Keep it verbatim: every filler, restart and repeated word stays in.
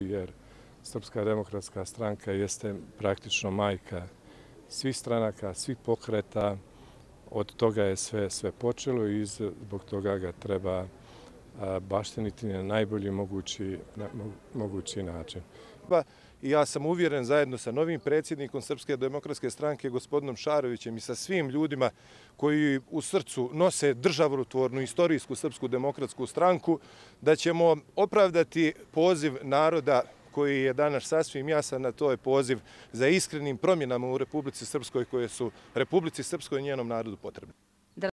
jer Srpska demokratska stranka jeste praktično majka svih stranaka, svih pokreta. Od toga je sve, sve počelo i zbog toga ga treba bašteniti na najbolji mogući, na, mogući način. I ja sam uvjeren zajedno sa novim predsjednikom Srpske demokratske stranke, gospodinom Šarovićem, i sa svim ljudima koji u srcu nose državotvornu istorijsku Srpsku demokratsku stranku, da ćemo opravdati poziv naroda koji je danas sasvim jasan, a to je poziv za iskrenim promjenama u Republici Srpskoj koje su Republici Srpskoj i njenom narodu potrebne.